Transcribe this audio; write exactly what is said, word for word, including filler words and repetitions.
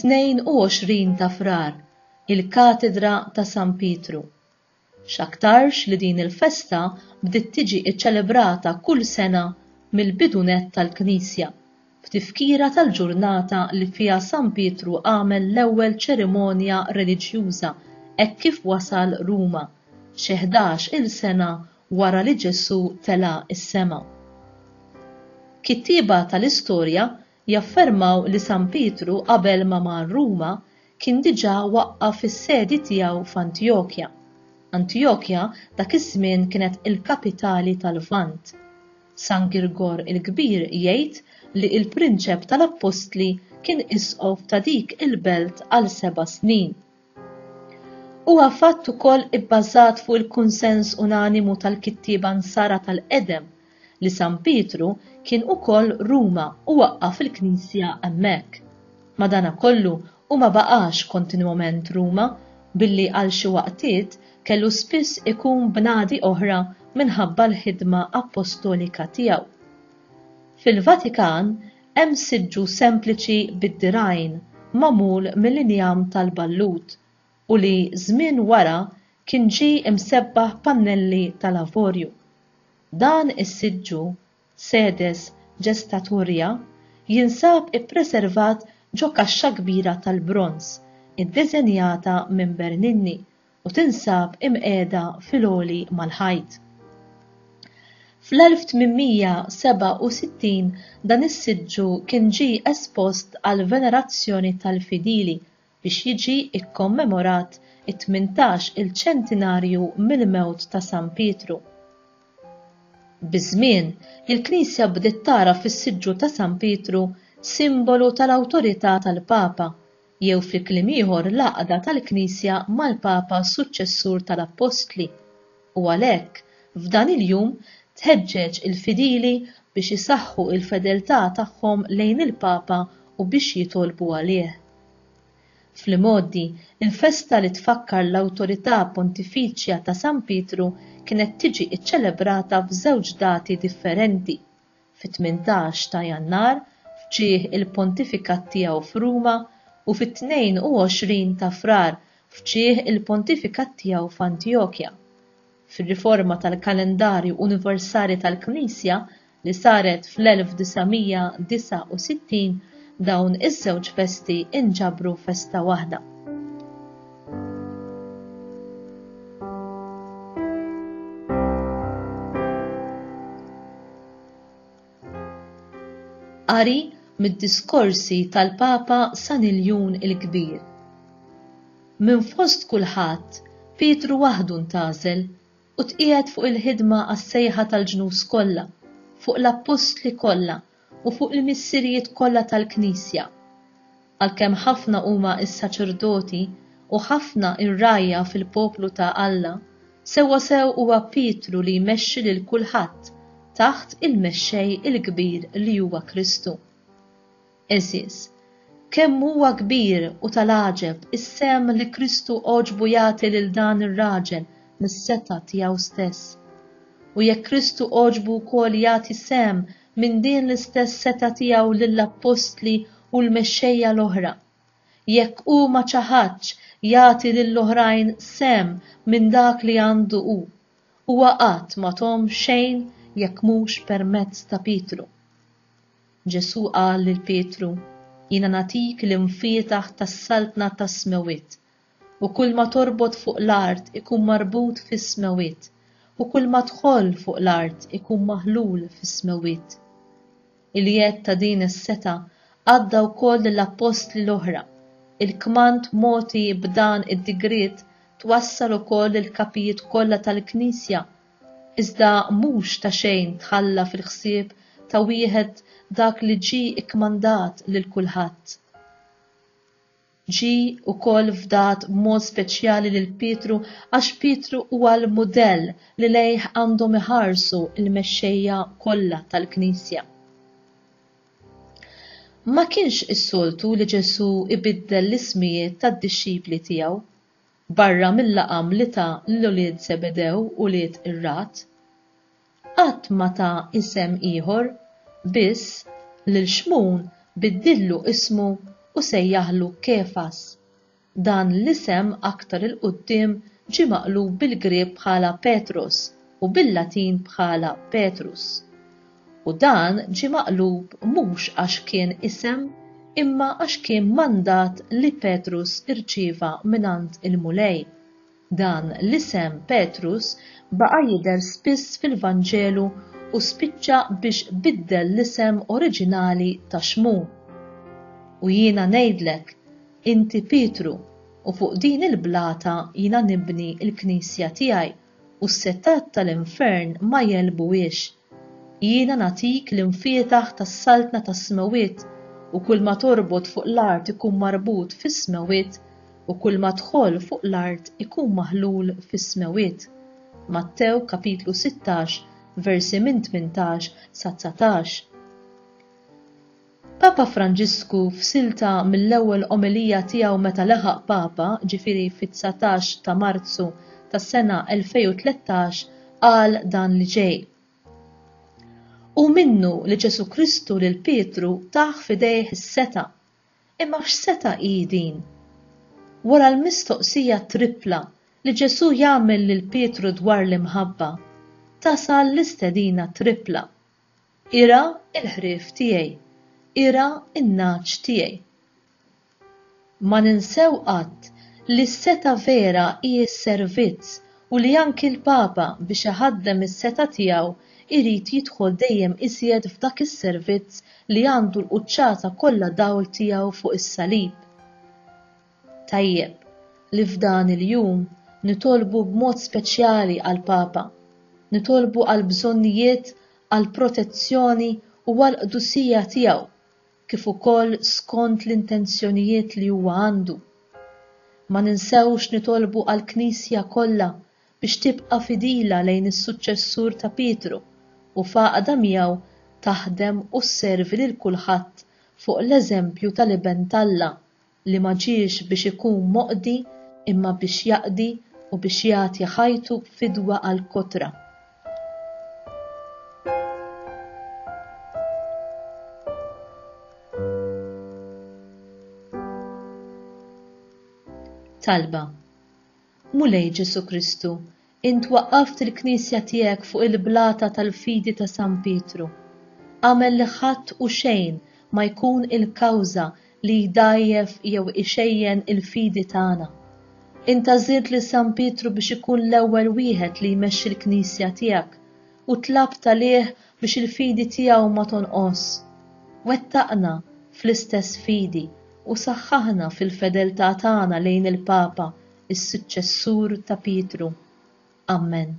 Tnejn u għoxrin ta' Frar, il-Katedra ta' San Pietru. X'aktarx li din il-festa bdiet tiġi ċċelebrata kull sena mill-bidu nett tal-Knisja, b'tifkira tal-ġurnata li fiha San Pietru għamel l-ewwel ċerimonja reliġjuża hekk kif wasal Ruma, xi ħdax-il sena wara li Ġesù tela' s-sema. Kittieba tal-istorja jaffermaw li San Pietru qabel ma mar Ruma kien diġà waqqaf is-sedi tiegħu f'Antjokja. Antjokja dak iż-żmien kienet il-kapitali tal-Lvant. San Girgor il-Kbir jgħid li l-prinċep tal-Appostli kien isqof ta' dik il-belt għal seba' snin. Huwa fatt ukoll ibbażat fuq il-kunsens unanimu tal-kittieba Nsara tal-qedem li San Pietru kien ukoll Ruma u waqqaf il-Knisja hemmhekk. Madanakollu hu ma baqax kontinwament Ruma billi għal xi waqtiet kellu spiss ikun bnadi oħra minħabba l-ħidma appostolika tiegħu. Fil-Vatikan hemm siġġu sempliċi bid-dirgħajn magħmul mill-injam tal-ballut u li żmien wara kien ġie imsebbaħ pannelli tal-avorju. Dan is-siġġu, sedes gestatoria, jinsab ippreservat ġo kaxxa kbira tal-bronż iddiżenjata minn Bernini u tinsab imqiegħda fil-għoli mal-ħajt. Fl-elf tmien mija sebgħa u sittin dan is-siġġu kien ġie espost għal venerazzjoni tal-fidili biex jiġi kkommemorat it-tmintax il-ċentinarju mill-mewt ta' San Pietru. Biż-żmien, il-Knisja bdiet tara fis-siġġu ta' San Pietru simbolu tal-awtorità tal-Papa, jew fi kliem ieħor l-għaqda tal-Knisja mal-Papa suċċessur tal-Appostli, u għalhekk f'dan il-jum tħeġġeġ il-fidili biex isaħħu l-fedeltà tagħhom lejn il-Papa u biex jitolbu għalih. Fl-imgħoddi, il-festa li tfakkar l-awtorità pontifiċja ta' San Pietru kienet tiġi ċċelebrata f'żewġ dati differenti, fit-tmintax ta' Jannar f'ġieħ il-pontifikat tiegħu f'Ruma u fit-tnejn u għoxrin ta' Frar f'ġieħ il-pontifikat tiegħu f'Antjokja. Fir-riforma tal-kalendarju universali tal-Knisja li saret fl-elf disa' mija disa' u sittin dawn iż-żewġ festi inġabru festa waħda. Qari mid-diskorsi tal-Papa San Iljun il-Kbir. Minn fost kulħadd, Pietru waħdu ntgħażel u tqiegħed fuq il-ħidma għas-sejħa tal-ġnus kollha, fuq l-appostli kollha u fuq il-missirijiet kollha tal-Knisja. Għalkemm ħafna huma s-saċerdoti u ħafna r-rgħajja fil-poplu ta' Alla, sewwa sew huwa Pietru li jmexxi lil kulħadd taħt il-mexxej il-kbir li huwa Kristu. Għeżież, kemm huwa kbir u tal-għaġeb is-sehem li Kristu għoġbu jagħti lil dan ir-raġel mis-setgħa tiegħu stess. U jekk Kristu għoġbu wkoll jagħti sehem minn din l-istess setgħa tiegħu lill-appostli u l-mexxejja l-oħra, jekk hu ma ċaħadx jagħti lill-oħrajn sehem minn dak li għandu hu, huwa qatt ma thom xejn jekk mhux permezz ta' Pietru. Ġesù qal lil Pietru, Jiena nagħtik l-imfietaħ tas-saltna tas-smewwiet, u kull ma torbot fuq l-art ikun marbut fis-smewwiet, u kull ma tħoll fuq l-art ikun maħlul fis-smewwiet. Il-jedd ta' din is-setgħa għadda wkoll lill-appostli l-oħra. Il-kmand mogħti b'dan id-digriet twassal ukoll lill-kapijiet kollha tal-Knisja, iżda mhux ta' xejn tħalla fil-ħsieb ta' wieħed dak li ġie ikkmandat lil kulħadd. Ġie wkoll fdat b'mod speċjali lil Pietru għax Pietru huwa l-mudell li lejh għandhom iħarsu l-mexxejja kollha tal-Knisja. Ma kienx is-soltu li Ġesù ibiddel l-ismijiet tad-dixxipli tiegħu, barra mill-laqam li ta lil ulied Zebedew u ulied ir-ragħad. Qatt ma ta isem ieħor, biss lil Xmun biddillu ismu u sejjaħlu Kefas. Dan l-isem aktar 'il quddiem ġie maqlub bil-Grieg bħala Petros u bil-Latin bħala Petrus. U dan ġie maqlub mhux għax kien isem imma għax kien mandat li Petrus irċieva mingħand il-Mulej. Dan l-isem Petrus baqa' jidher spiss fil-Vanġelu u spiċċa biex biddel l-isem oriġinali ta' Xmun. U jiena ngħidlek, inti Pietru, u fuq din il-blata jiena nibni l-knisja tiegħi, u s-setgħat tal-infern ma jegħlbuhiex. Jiena nagħtik l-imfietaħ tas-saltna tas-smewwiet, u kull ma torbot fuq l-art ikun marbut fis-smewwiet, u kull ma tħoll fuq l-art ikun maħlul fis-smewwiet. Mattew kapitlu sittax, versi minn tmintax sa dsatax. Papa Franġisku f'silta mill-ewwel omelija tiegħu meta leħaq Papa, ġifieri fit-dsatax ta' Marzu tas-sena elfejn u tlettax, qal dan li ġej. Hu minnu li Ġesù Kristu lil Pietru tah f'idejh is-setgħa. Imma x'setgħa hi din? Wara l-mistoqsija tripla li Ġesù jagħmel lil Pietru dwar l-imħabba, tasal l-istedina tripla. Ira l-ħrief tiegħi, ira n-nagħaġ tiegħi. Ma ninsew qatt li s-setgħa vera hi s-servizz u li anki l-Papa biex iħaddem is-setgħa tiegħu irid jidħol dejjem iżjed f'dak is-servizz li għandu l-quċċata kollha dawl tiegħu fuq is-salib. Tajjeb li f'dan il-jum nitolbu b'mod speċjali għall-Papa, nitolbu għall-bżonnijiet, għall-protezzjoni u għall-qdusija tiegħu, kif ukoll skont l-intenzjonijiet li huwa għandu. Ma ninsewx nitolbu għall-Knisja kollha biex tibqa' fidila lejn is-suċċessur ta' Pietru u f'għaqda miegħu taħdem u sservi lil kulħadd fuq l-eżempju tal-Iben t'Alla li ma ġiex biex ikun moqdi imma biex jaqdi u biex jagħti ħajtu fidwa għall-kotra. Talba. Mulej Ġesù Kristu, int waqqaft il-Knisja tiegħek fuq il-blata tal-fidi ta' San Pietru. Agħmel li ħadd u xejn ma jkun il-kawża li jdgħajjef jew ixejjen il-fidi tagħna. Int għażilt lil San Pietru biex ikun l-ewwel wieħed li jmexxi l-Knisja tiegħek u tlabt għalih biex il-fidi tiegħu ma tonqos. Wettaqna fl-istess fidi u saħħaħna fil-fedeltà tagħna lejn il-Papa, is-suċċessur ta' Pietru. Amen.